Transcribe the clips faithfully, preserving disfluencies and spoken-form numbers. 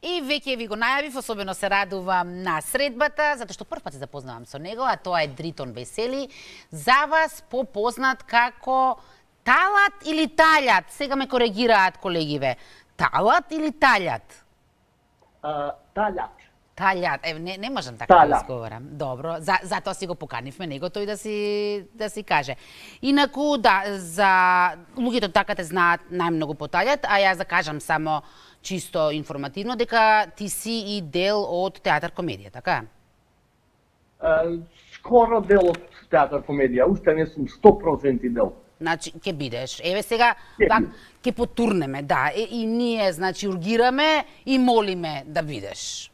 И веќе ви го најавив, особено се радувам на средбата, затоа што прв пат се запознавам со него, а тоа е Дритон Весели, за вас попознат како Талат или Талјат? Сега ме коригираат колегиве. Талат или Талјат? Uh, талјат. Талјат, е, не, не можам така да изговорам. Добро, за, затоа си го поканивме него тој да си, да си каже. Инаку, да, за луѓето така те знаат најмногу по Талјат, а јас да кажам само чисто информативно, дека ти си и дел од театар комедија, така? Uh, скоро дел од театар комедија, уште не сум сто проценти дел. Значи, ќе бидеш. Еве сега, пак, ќе потурнеме, да, и, и ние, значи, ургираме и молиме да бидеш.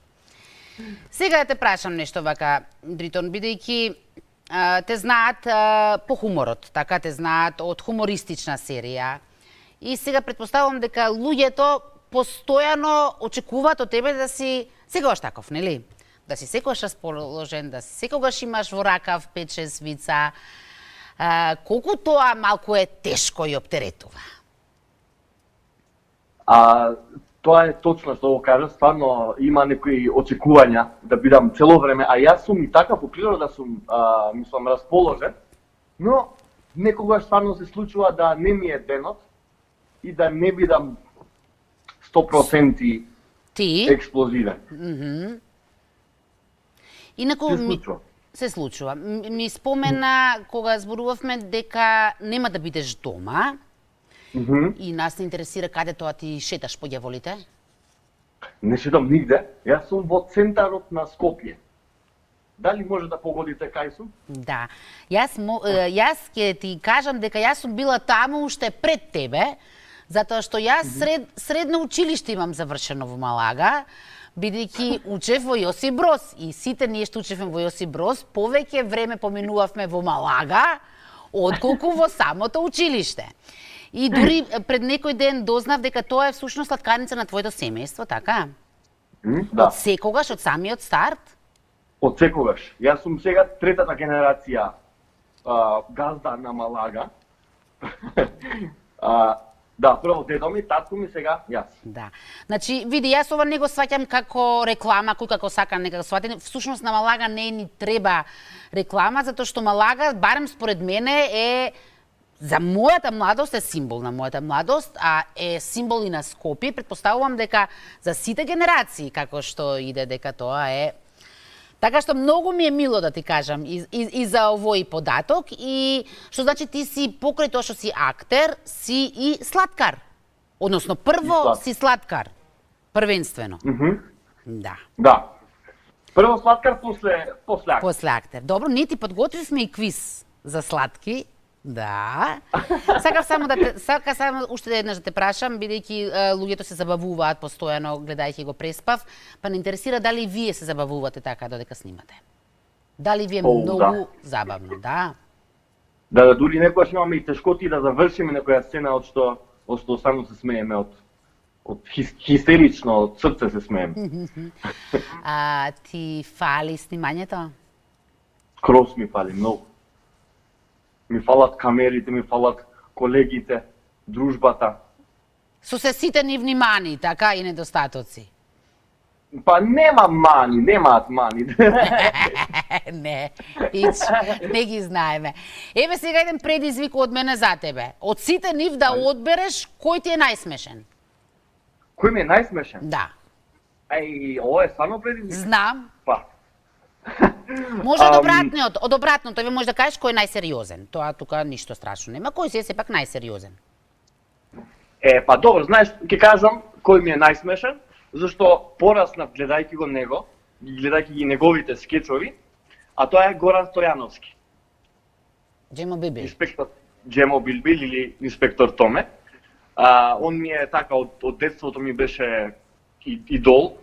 Сега да те прашам нешто вака, Дритон, бидејќи те знаат а, по хуморот, така те знаат од хумористична серија. И сега предпоставувам дека луѓето постојано очекуваат од тебе да си секогаш таков, нели? Да си секогаш расположен, да секогаш имаш во ракав пет-шест вица. А, колку тоа малку е тешко и оптеретува? А, тоа е точно што го кажа, стварно има некои очекувања да бидам цело време, а јас сум и така по природа сум, а, мислам, расположен, но некогаш стварно се случува да не ми е денот и да не бидам сто проценти Ти? експлозивен. Mm -hmm. Инаку се случува. Ми, се случува. Ми спомена кога зборувавме дека нема да бидеш дома. Mm -hmm. И нас не интересира каде тоа ти шеташ по ѓаволите? Не шетам нигде. Јас сум во центарот на Скопје. Дали може да погодите кај сум? Да. Јас, јас ќе ти кажам дека јас сум била таму уште пред тебе, затоа што јас сред, средно училиште имам завршено во Малага, бидејќи учев во Јосип Броз. И сите ние што учевме во Јосип Броз, повеќе време поминувавме во Малага, отколку во самото училиште. И дури пред некој ден дознав дека тоа е всушност сладкарница на твоето семејство, така? Mm, да. Од секогаш, од самиот старт? Од секогаш. Јас сум сега третата генерација а, газда на Малага. а, да, прво дедо ми, татко ми, сега јас. Да. Значи, види, јас ова не го сваќам како реклама, кој како сака нека го свати. Всушност на Малага не ни треба реклама, затоа што Малага, барем според мене, е за мојата младост е символ на мојата младост, а е символ и на Скопје. Предпоставувам дека за сите генерации, како што иде, дека тоа е. Така што многу ми е мило да ти кажам и, и, и за овој податок, и што значи ти си покрај тоа што си актер, си и сладкар. Односно, прво слад. си сладкар, првенствено. Mm -hmm. Да. Да. Прво сладкар, после, после актер. После актер. Добро, ние ти подготвивме и квиз за сладки. Да. Сакав само да те, сака само уште еднаш да те прашам, бидејќи луѓето се забавуваат постојано гледајќи го Преспав, па не интересира дали вие се забавувате така додека снимате. Дали ви е О, многу да. забавно, да? Да, да, дури некојаш имаме и тешкоти да завршиме некоја сцена од што од што само се смееме, од од хис, хистерично, од срце се смееме. А ти фали снимањето? Крос ми фали многу. Ми фалат камерите, ми фалат колегите, дружбата. Со се сите нивни мани, така, и недостатоци? Па нема мани, немаат мани. Не, ич, не ги знаеме. Еве сега еден предизвик од мене за тебе. Од сите нив да одбереш кој ти е најсмешен? Кој ми е најсмешен? Да. Еј, ова е стварно предизвик. Знам. Па. Може од обратниот, од обратното, еве може да кажеш кој е најсериозен. Тоа тука ништо страшно нема, кој си е сепак најсериозен? Е, па добро, знаеш, ќе кажам кој ми е најсмешен, зашто пораснав гледајќи го него, гледајќи ги неговите скечови, а тоа е Горан Стојановски. Джемо Билбил. Инспектор Джемо Билбил или инспектор Томе. А, он ми е така од, од детството ми беше и, идол.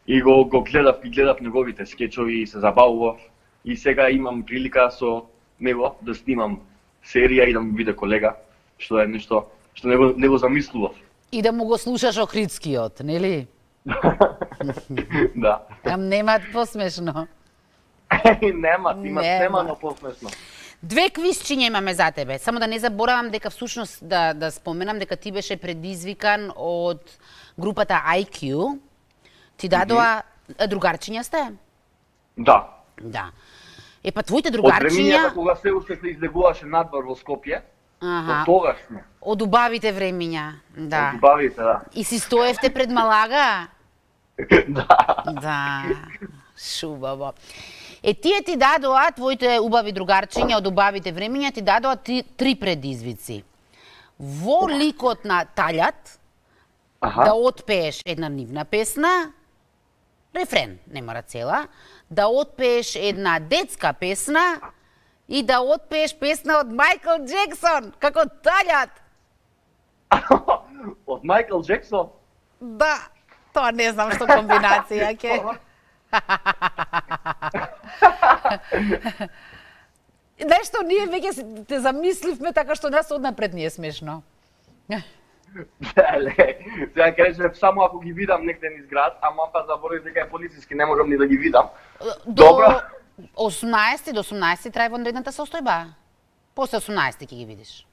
И го, го гледав, и гледав неговите скечови и се забавував. И сега имам прилика со него да снимам серија и да му биде колега, што е нешто што не го, не го замислував. И да му го слушаш Охридскиот, нели? Да. Ам немаат посмешно. Немат, имат немано посмешно. Две квизчиња имаме за тебе. Само да не заборавам дека всушност да, да споменам дека ти беше предизвикан од групата Ай Кју. Ти дадоа другарчиња сте? Да. Да. Е, па твоите Од другарчиња... времињата кога се уште се излегуваше надвор во Скопје, Аха. од тогаш сме. Од убавите времиња, да. Од убавите, да. И си стоевте пред Малага? Да. Да. Шубаво. Е, тие ти дадоа, твоите убави другарчиња од убавите времиња, ти дадоа три, три предизвици. Во ликот на Талјат, Аха. да отпееш една нивна песна, рефрен, не мора цела, да отпееш една детска песна и да отпееш песна од Мајкл Джексон, како Талјат. Од Мајкл Джексон? Да, тоа не знам што комбинација ќе. Нешто ние веќе те замисливме така што нас однапред не е смешно. Леле, сега кажеш само ако ги видам некде низ град, ама па заборав дека е полициски, не можам ни да ги видам. До Добро. осумнаесети до осумнаесети трај вонредната состојба. После осумнаесети ќе ги видиш.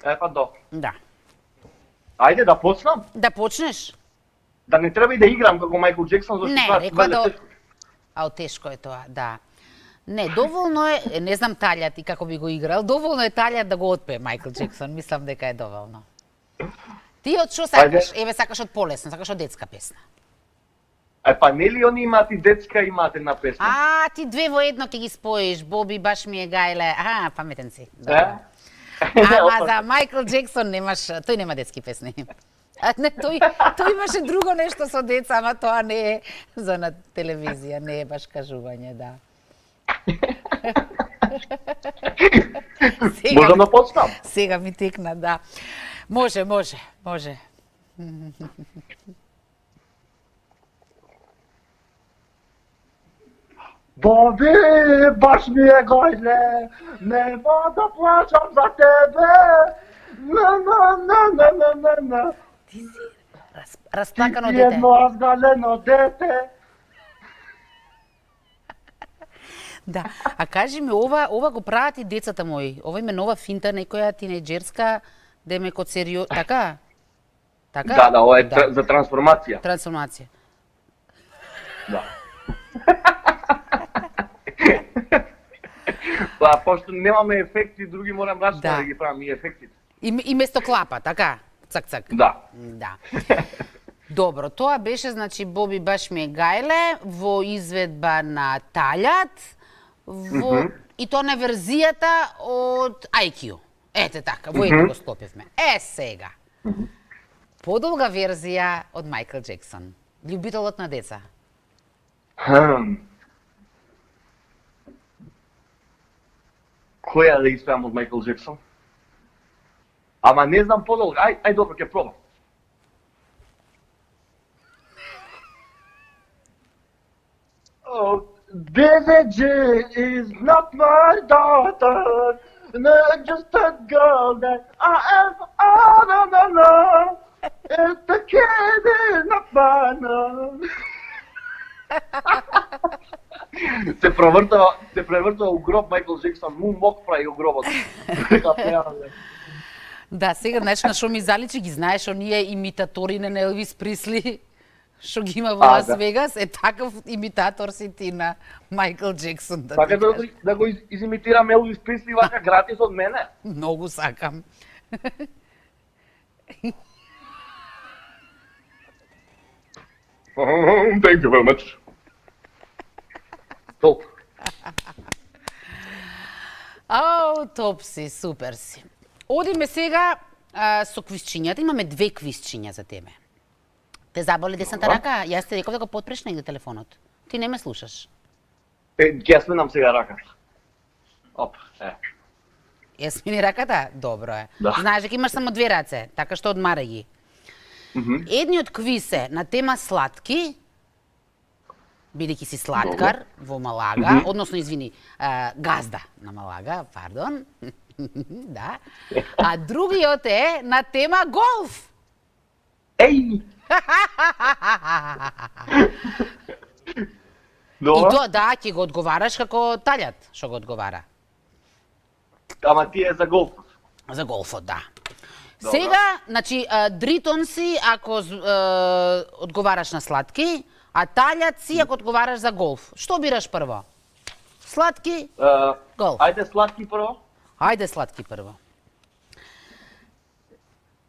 Е, па до. Да. Ајде да почнам. Да почнеш? Да не треба и да играм како Мајкл Джексон, зашто Не, тоа рекоа е да... тешко. Ау, тешко е тоа, да. Не, доволно е, не знам Талјат и како би го играл, доволно е Талјат да го отпее Мајкл Джексон, мислам дека е доволно. Ти од што сакаш? Ајде. Еве сакаш од полесно, сакаш од детска песна. Е, па нели они имаат и детска, имаат една песна? А, ти две во едно ќе ги споиш, Боби баш ми е гајле. А, паметен си. Е? Добро. Ама за Мајкл Джексон немаш, тој нема детски песни. А не, тој, тој имаше друго нешто со деца, ама тоа не е за на телевизија, не е баш кажување, да. Сега, Можам да почнам? сега ми текна, да. Може, може, може. Боби, баш ми е гајле, нема да плачам за тебе. На, на, на, на, на, на, на. Ти си раз, расплакано Ти дете. едно разгалено дете. Да, а кажи ми, ова, ова го прават и децата мои. Ова има нова финта, некоја тинејџерска, да ме код серио... Така? Така? Да, да, ова е тр- за трансформација. Трансформација. Да. Па, пошто немаме ефекти, други морам рачно Да. да ги правам и ефектите. И, и место клапа, така? Цак, цак. Да. Да. Добро, тоа беше, значи, Боби баш ми е гајле, во изведба на Талјат, во... Мгм. и тоа на верзијата од Ај Q. Ете така, во едно го склопивме. Е, сега. Подолга верзија од Мајкл Джексон. Љубителот на деца. Хм. Која да испеам од Мајкл Джексон? Ама не знам подолго. Ај, ај добро, ќе пробам. Oh, Billie Jean is not my daughter, not just a girl that I am. Oh, no, no, no. If the kid is not mine. Се превртува, се превртува у гроб Мајкл Джексон, му мок прави у гробот. Дека пеале. Да, сега, знаеш, на шо ми заличи, ги знаеш, оние имитаторите на Елвис Присли, што ги има во А, Лас да. Вегас, е таков имитатор си ти на Мајкл Джексон, да Сакаш ти да, го- кажам. да го из- изимитирам Елвис Присли вака гратис од мене? Многу сакам. Thank you very much. Толку. Ау, топ си, супер си. Одиме сега а, со квизчињата. Имаме две квизчиња за тебе. Те заболи десната Добро. рака? Јас ти реков да го потпреш негде телефонот. Ти не ме слушаш. Е, ќе ја сменам сега раката. Оп, е. Ја смени раката? Добро е. Да. Знаеш дека имаш само две раце, така што одмарај ги. Мгм. Едниот квиз е на тема сладки, бидејќи си сладкар во Малага, Мгм. односно, извини, а, газда на Малага, пардон. Да. А другиот е на тема голф. Еј! И Добро. тоа, да, ќе го одговараш како Талјат, што го одговара. Ама ти е за голф. За голфот, да. Сега, значи, дритон си ако е, одговараш на сладки, а талјат си ако одговараш за голф. Што бираш прво? Сладки, Uh, голф. ајде сладки прво. Ајде сладки прво.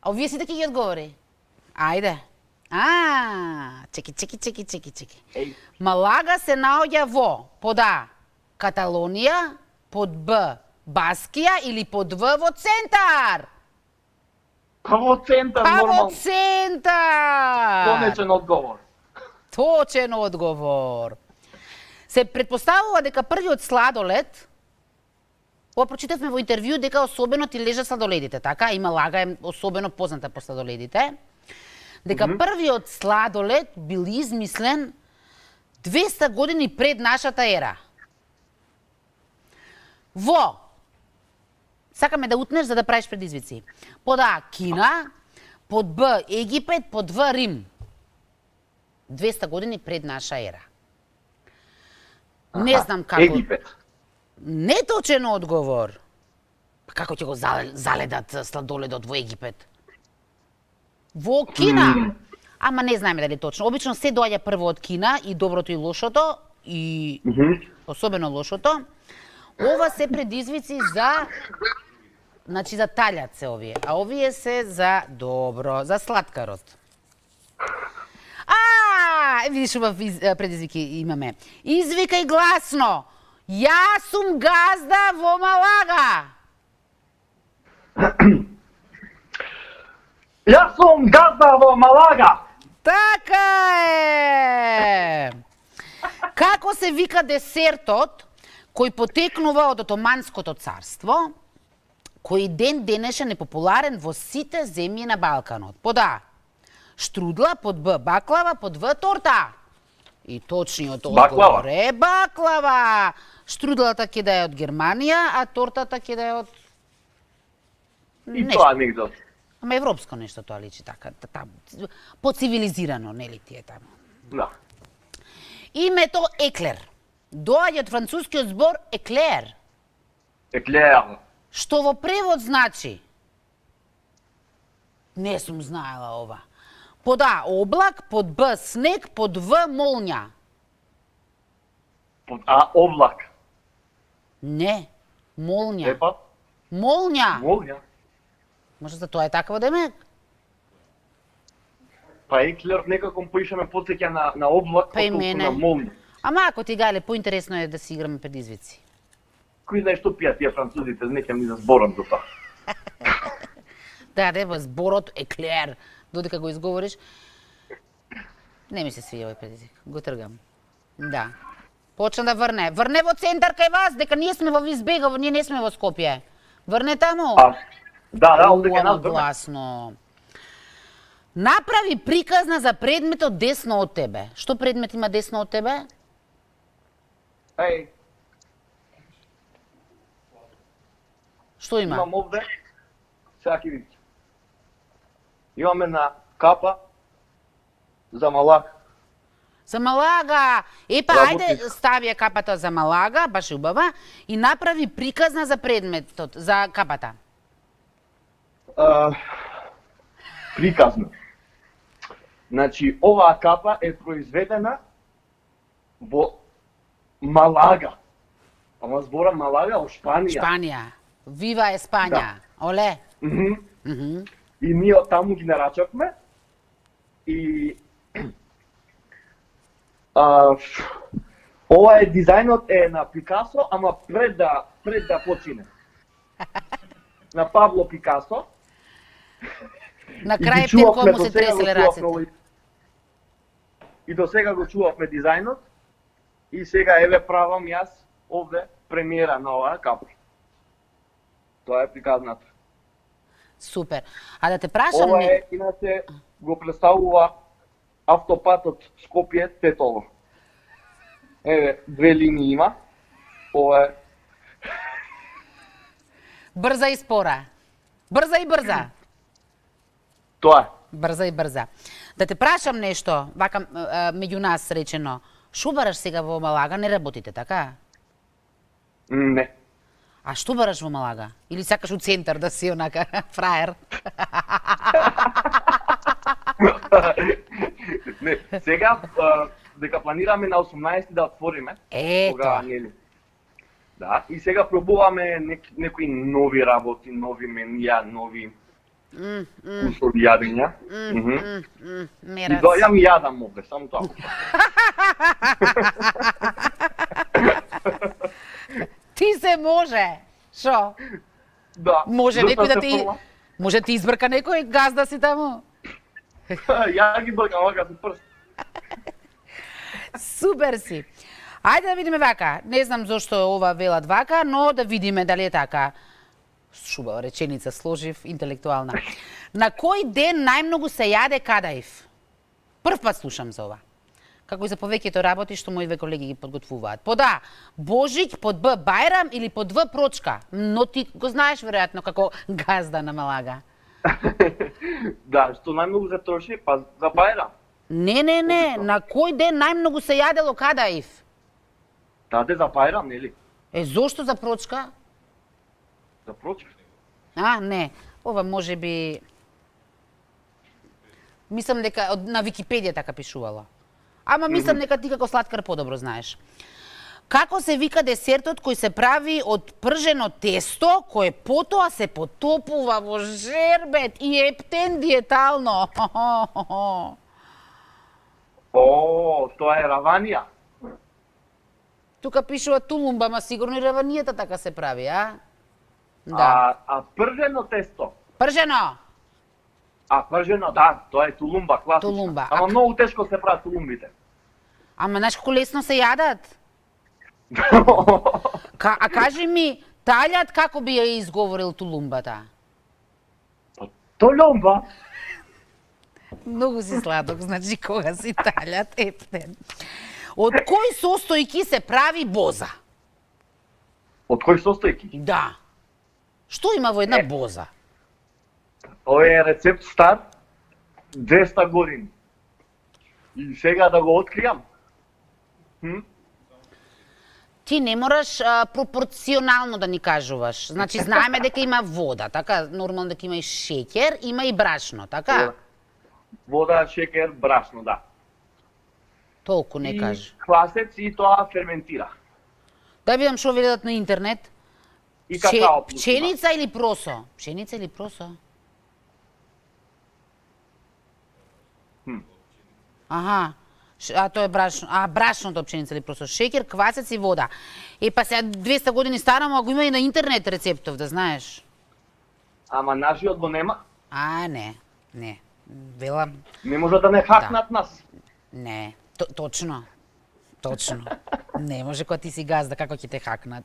А овие сите ќе ги одговори? Ајде. А, чеки, чеки, чеки, чеки, чеки. Еј. Малага се наоѓа во под А Каталонија, под Б Баскија или под В во центар? Па во центар Па во нормално. центар! Конечен одговор. Точен одговор. Се претпоставува дека првиот сладолед, ова прочитавме во интервју дека особено ти лежат сладоледите, така? И Малага е особено позната по сладоледите. Дека mm -hmm. првиот сладолед бил измислен двеста години пред нашата ера. Во, сакаме да утнеш за да правиш предизвици. Под А Кина, под Б Египет, под В Рим. двеста години пред наша ера. Не знам како... Египет. Неточен одговор. Па како ќе го заледат сладоледот во Египет? Во Кина. Mm. Ама не знаеме дали точно. Обично се доаѓа прво од Кина, и доброто и лошото, и Mm -hmm. особено лошото. Ова се предизвици за... Значи за талјат се овие, а овие се за добро, за сладкарот. А, видиш убав предизвики имаме. Извикај гласно. Јас сум газда во Малага. Јас сум газда во Малага. Така е. Како се вика десертот кој потекнува од Отоманското царство, кој ден денешен е популарен во сите земји на Балканот? Под А штрудла, под Б баклава, под В торта. И точниот одговор е баклава. Штрудлата ќе да е од Германија, а тортата ќе да е од... И тоа анекдот. Ама европско нешто тоа личи така, таму. Поцивилизирано, нели ти е таму? Да. Името еклер доаѓа од францускиот збор еклер, Еклер. што во превод значи... Не сум знаела ова. Под А облак, под Б снег, под В молња. Под А облак. Не, молња. Епа, Молња. молња. Може за тоа е такво демек? Па еклер некако поише ме потсеќа на на облак, Па и отколку мене. на молња. Ама ако ти гале, поинтересно е да си играме предизвици. Кој знае што пијат тие французите, не ќе ми да зборам за тоа. Да, да, во зборот еклер, додека го изговориш. Не ми се свија овој предизвик, го тргам. Да. Почна да врне. Врне во центар кај вас, дека ние сме во Визбегово, ние не сме во Скопје. Врне таму. А, да, да, овде Уа, ќе нас врне. гласно. Направи приказна за предметот десно од тебе. Што предмет има десно од тебе? Еј, Што има? имам овде, сега ќе видите. Имаме на капа за Малага. За Малага. Епа, Работи. ајде стави ја капата за Малага, баш убава, и направи приказна за предметот, за капата. А, приказно. Значи, оваа капа е произведена во Малага. Ама збора Малага во Шпанија. Шпанија. Вива Еспања. Да. Оле. Мгм. Мгм. И ние од таму ги нарачавме и а, ова е дизајнот е на Пикасо, ама пред да пред да почине. На Пабло Пикасо. На И ги крај чувавме, Пенко му до се сега го треселе чувавме рацете. овој- И до сега го чувавме дизајнот и сега еве правам јас овде премиера на оваа капа. Тоа е приказната. Супер. А да те прашам Ова не... е, иначе, го представува автопатот Скопје-Тетово. Еве, две линии има. Ова е... Брза и спора. Брза и брза. Тоа е. Брза и брза. Да те прашам нешто, вака а, меѓу нас речено. Шо бараш сега во Малага, не работите, така? Не. А што бараш во Малага? Или сакаш у центар да си онака фраер? Не, сега а, дека планираме на осумнаесети да отвориме. Ето. Кога, нели? Да, и сега пробуваме нек, некои нови работи, нови менија, нови Mm, mm, услови јадења. mm, Мгм. mm, mm, И мерац. дојам и јадам овде, само тоа. Ти се може. Шо? Да. Може зашто некој да се ти фрла? може ти избрка некој газда си таму? Ја ги бркам вака со прст. Супер си. Ајде да видиме вака. Не знам зошто ова велат вака, но да видиме дали е така. Шубава реченица сложив, интелектуална. На кој ден најмногу се јаде кадаив? Прв пат слушам за ова. Како и за повеќето работи што мои две колеги ги подготвуваат. Под А, Божиќ, под Б, Бајрам или под В, Прочка. Но ти го знаеш веројатно како газда на Малага. Да, што најмногу се троши, па за Бајрам. Не, не, не, на кој ден најмногу се јадело кадаив? Таде за Бајрам, нели? Е, зошто за Прочка? За Прочка. А, не. Ова може би... Мислам дека од- на Википедија така пишувала. Ама мислам дека ти како сладкар подобро знаеш. Како се вика десертот кој се прави од пржено тесто, кое потоа се потопува во жербет и ептен диетално? О, тоа е раванија. Тука пишува тулумба, ма сигурно и раванијата така се прави, а? Да. А, а пржено тесто. Пржено! А пржено, да, тоа е тулумба, класична. Тулумба. Ама А- многу тешко се прават тулумбите. Ама знаеш колку лесно се јадат? Ка, а кажи ми, Талјат како би ја изговорил тулумбата? Толумба. Многу си сладок, значи кога си Талјат ептен. Од кои состојки се прави боза? Од кој состојки? Да. Што има во една Е. боза? Ова е рецепт стар двеста години. И сега да го откријам. Хм? Ти не мораш а, пропорционално да ни кажуваш. Значи, знаеме дека има вода, така? Нормално дека има и шеќер, има и брашно, така? Вода, шекер, брашно, да. Толку не И кажи. квасец и тоа ферментира. Да видам што велат на интернет. И Пче- какао плюс има. Пченица или просо? Пченица или просо? Хм. Аха. Ш- А тоа е брашно. А брашното пченица или просо? Шеќер, квасец и вода. Е па сега двеста години стара, ама го има и на интернет рецептов, да знаеш. Ама нашиот го нема. А, не. Не. Велам, Не може да не хакнат нас. не. Т точно. Точно. Не може кога ти си газда, како ќе те хакнат.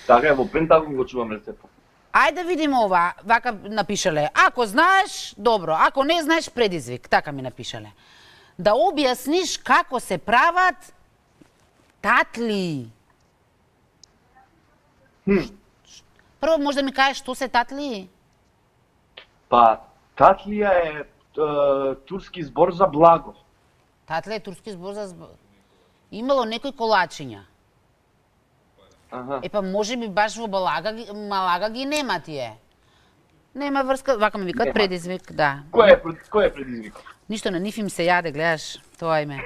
Така е, во Пентагон го чувам рецептот. Ајде да видиме ова. Вака напишале. Ако знаеш, добро. Ако не знаеш, предизвик. Така ми напишале. Да објасниш како се прават татли. Хм. Прво може да ми кажеш што се татли? Па, татлија е, е турски збор за благо. Татле е турски збор за збор. Имало некои колачиња. Аха. Е па може би баш во Балага, ги- Малага ги нема тие. Нема врска, вака ме викат Нема. предизвик, да. Кој е пред- кој е предизвикот? Ништо на нив им се јаде, гледаш, тоа име.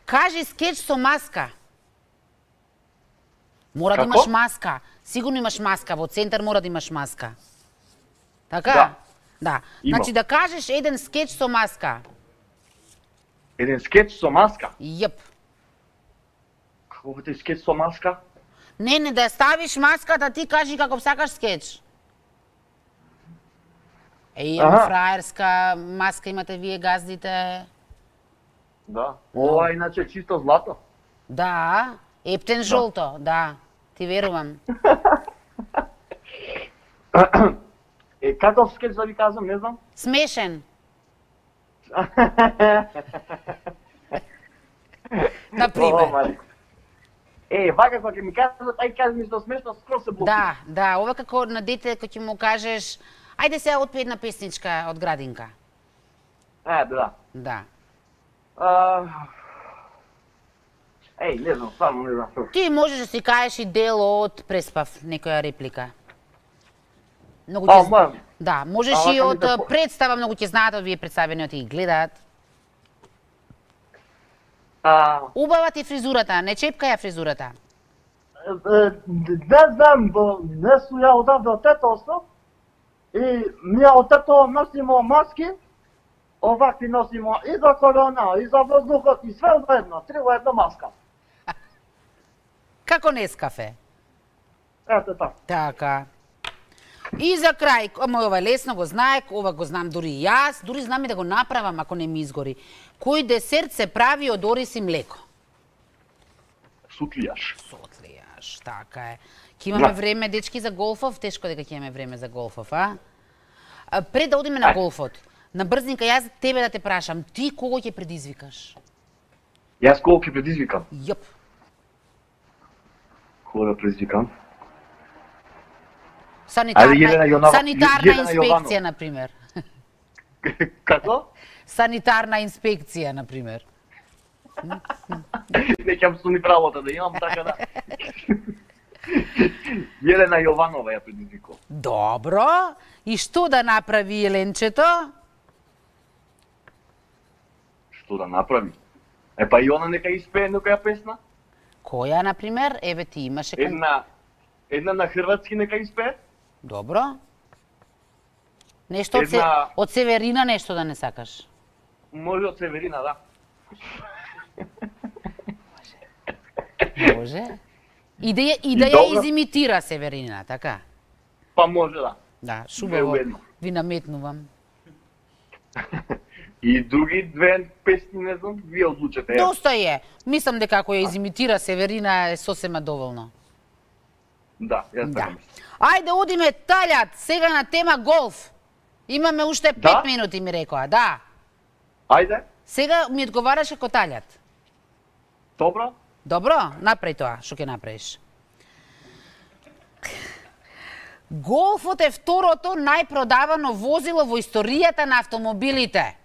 Кажи скеч со маска. Мора да Како? имаш маска. Сигурно имаш маска, во центар мора да имаш маска. Така? Да. Да. Имам. Значи да кажеш еден скеч со маска. Еден скеч со маска. Јеп. Како е скеч со маска? Не, не, да ја ставиш маската, ти кажи како сакаш скеч. Е, имам Аха. фраерска маска, имате вие газдите. Да. Ова иначе е чисто злато. Да, ептен жолто, да. Ти верувам. Е, каков скеч да ви кажам, не знам. Смешен. Например. Ова, Е, вака кога ќе ми кажат, ај кажи ми што смешно, скроз се блокира. Да, да, ова како на дете кој ќе му кажеш, ајде сега отпи една песничка од градинка. Е, да. Да. А, Еј, не знам, само не знам што. Ти можеш да си кажеш и дел од Преспав, некоја реплика. Многу А, ќе... мам. Да, можеш А, и вака ми од да по- представа, многу ќе знаат, овие представени од и гледаат. А, Убава ти фризурата, не чепка ја фризурата. е, не знам, бо не су ја одавде од тетоство и ми ја од тето носимо маски, овакви носимо и за корона, и за воздухот, и све во едно, три во едно маска. Како Нескафе. Ето така. Така. И за крај, ама ова лесно го знаек, ова го знам дури и јас, дури знам и да го направам ако не ми изгори. Кој десерт се прави од ориз и млеко? сутлијаш. Сотлијаш, така е. Ќе имаме Да. време, дечки, за голфов? Тешко дека ќе имаме време за голфов, а? А, пред да одиме на Ај. голфот, на брзника јас тебе да те прашам, ти кого ќе предизвикаш? Јас кого ќе предизвикам? Јоп. Кого да предизвикам? Санитарна, Ајде, Јелена Јонова- санитарна Јелена инспекција, Јованова. например. Како? Санитарна инспекција, например. Не ќе ми правото да имам, така да. Јелена Јованова ја предизвикува. Добро. И што да направи Еленчето? Што да направи? Е па и она нека испее некоја песна. Која, например? Еве ти имаше кон... Една една на хрватски нека испее. Добро. Нешто од, се... Една- од Северина нешто да не сакаш? Може од Северина, да. Може. И да ја, и да И ја добро. изимитира Северина, така? Па може да. Да, Две шубаво. у едно. Ви наметнувам. И други две песни, не знам, вие одлучете. Ја. Доста е. Мислам дека ако ја изимитира Северина е сосема доволно. Да, јас Да. така мислам. Ајде одиме Талјат, сега на тема голф. Имаме уште пет Да? минути, ми рекоа, да. Ајде, Сега ми одговараше ко Талјат. добро. Добро, направи тоа, што ќе направиш. Голфот е второто најпродавано возило во историјата на автомобилите.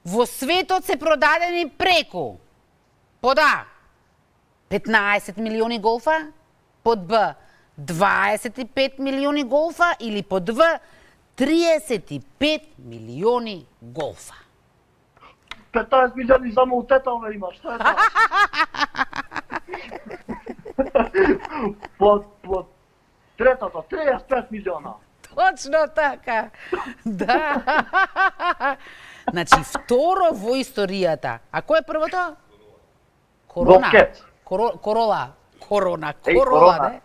Во светот се продадени преку под А петнаесет милиони голфа, под Б дваесет и пет милиони голфа или под В триесет и пет милиони голфа. петнаесет милиони само у тетове има, што е тоа? Под, под третото, триесет и пет милиона. Точно така. Да. Значи, второ во историјата. А кој е првото? Корона. Голфкет. Коро, корола. Корона. Еј, Корола, корона. не?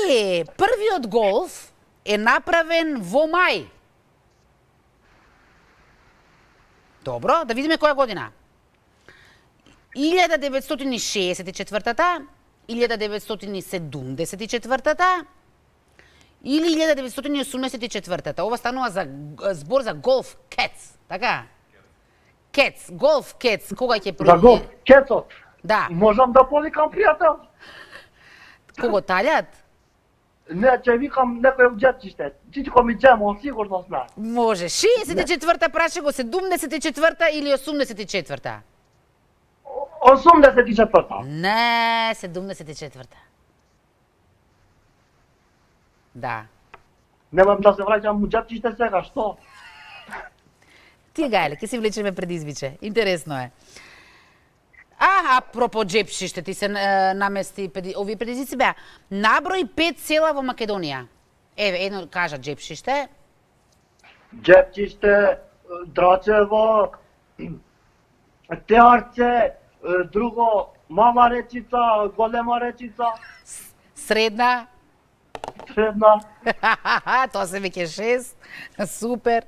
Е, првиот голф е направен во мај. Добро, да видиме која година. илјада деветстотини шеесет и четвртата, илјада деветстотини седумдесет и четвртата или илјада деветстотини осумдесет и четвртата. Ова станува за збор за голф кец, така? Кец, голф кец, кога ќе За голф, кецот. Да, Можам да повикам пријател? кого Талјат? Не, ќе викам некој од џетчиште. Чичко ми џемо, сигурно знае. Може. шеесет и четврта праше го, седумдесет и четврта или осумдесет и четврта? осумдесет и четврта. Не, седумдесет и четврта. Да. Немам да се враќам у џетчиште сега, што? Ти гајле, ќе си влечеме предизвиче. Интересно е. А, апропо джепшиште, ти се е, намести, преди- овие предизвици беа. Наброј пет села во Македонија. Еве, едно кажа джепшиште. Џепчиште, Драчево, Теарце, друго Мала речица, Голема речица, Средна. средна. Тоа се веќе шест. Супер.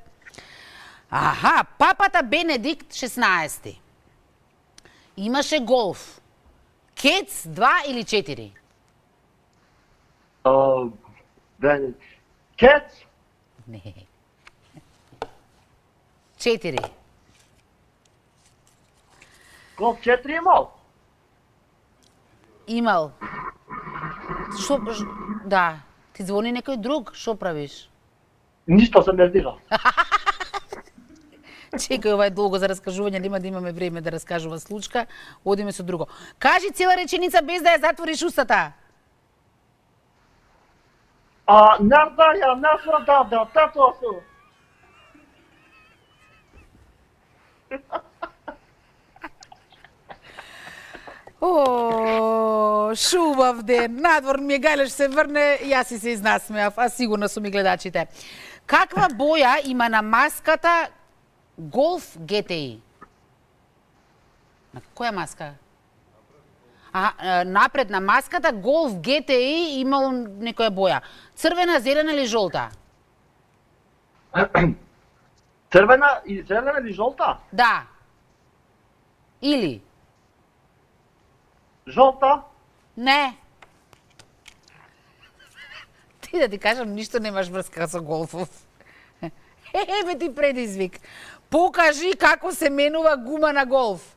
Аха, папата Бенедикт шеснаести. Имаше голф. Кец два или четири? Uh, then, Кец, Не. Четири. голф четири имал. Имал. Шо, ш- да. Ти звони некој друг, шо правиш? Ништо се не дира. Чекај, ова е долго за раскажување, нема да имаме време да раскажува случка. Одиме со друго. Кажи цела реченица без да ја затвориш устата. А нардаја нашо да тато су. О, шубав ден. Надвор ми е гајлеш се врне, јас си се изнасмеав, а сигурно сум и гледачите. Каква боја има на маската Golf G T I? На која маска? А, напред на маската Golf G T I имало некоја боја. Црвена, зелена или жолта? Црвена и зелена или жолта? Да. Или? Жолта? Не. Ти да ти кажам, ништо немаш врска со голфов. Еве ти предизвик. Покажи како се менува гума на голф.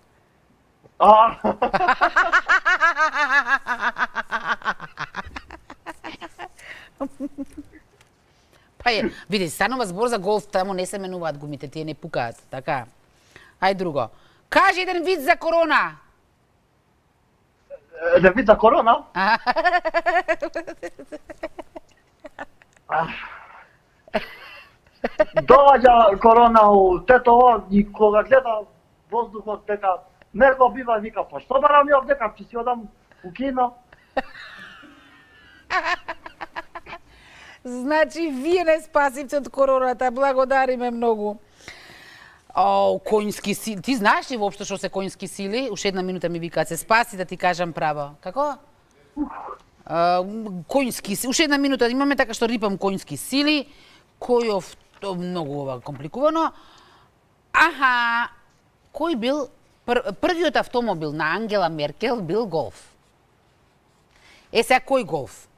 А. Па е, види, станува збор за голф, таму не се менуваат гумите, тие не пукаат, така. Ај друго. Кажи еден вид за корона. Еден вид за корона? Доаѓа корона у Тетово и кога гледа воздухот дека мерко бива, вика, па што барам ја дека ќе си одам у кино? Значи, вие не спасивте од короната, благодариме многу. О, коњски сили. Ти знаеш ли воопшто што се коњски сили? Уште една минута ми викаат се спаси да ти кажам право. Како? А, коњски сили. Уште една минута имаме така што рипам коњски сили. Којов то многу ова компликувано. Аха, кој бил пр, првиот автомобил на Ангела Меркел бил Голф. Е сега кој Голф?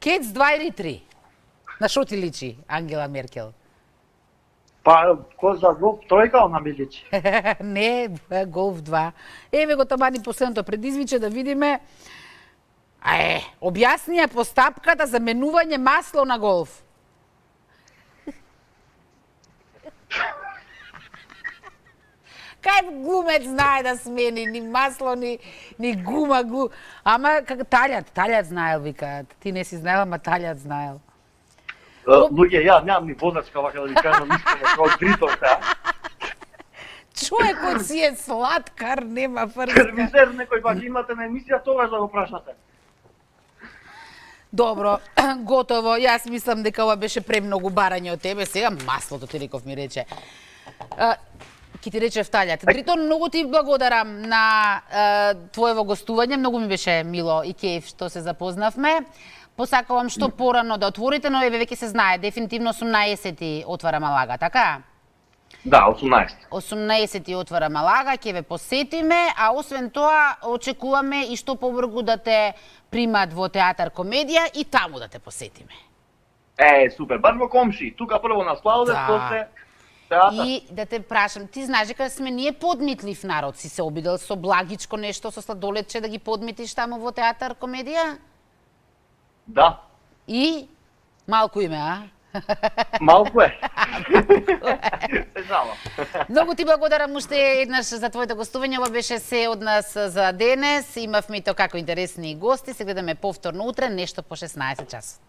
Кец два или три? На шо ти личи Ангела Меркел? Па, кој за Голф тројка она ми личи. Не, Голф два. Еве го тамани последното предизвиче да видиме. Е, објасни ја постапката за менување масло на Голф. Кај глумец знае да смени ни масло, ни, ни гума, глу... Ама как талјат, талјат знаел, викаат. Ти не си знаел, ама талјат знаел. Луѓе, ја немам ни водачка, вака да ви кажам, искаме како дритовте, а? Човекот си е сладкар, нема фрска. Сервизер некој пак имате на емисија, тогаш да го прашате. Добро, готово. Јас мислам дека ова беше премногу барање од тебе. Сега маслото ти реков ми рече. Ки ти рече вталјат. Дритон, многу ти благодарам на е, твоево гостување. Многу ми беше мило и кејф што се запознавме. Посакувам што порано да отворите, но еве веќе се знае, дефинитивно осумнаесети отвара Малага, така? Да, осумнаесети. осумнаесети отвара Малага, ќе ве посетиме, а освен тоа очекуваме и што побрзо да те примат во театар комедија и таму да те посетиме. Е, супер, баш во комши. Тука прво на Славодев, Да. после театар. И да те прашам, ти знаеш дека сме ние подмитлив народ, си се обидел со благичко нешто, со сладоледче да ги подмитиш таму во театар комедија? Да. И малку име, а? Малку е. Се знала. Многу ти благодарам уште еднаш за твоето гостување. Ова беше се од нас за денес. Имавме и тоа како интересни гости. Се гледаме повторно утре, нешто по шеснаесет часот.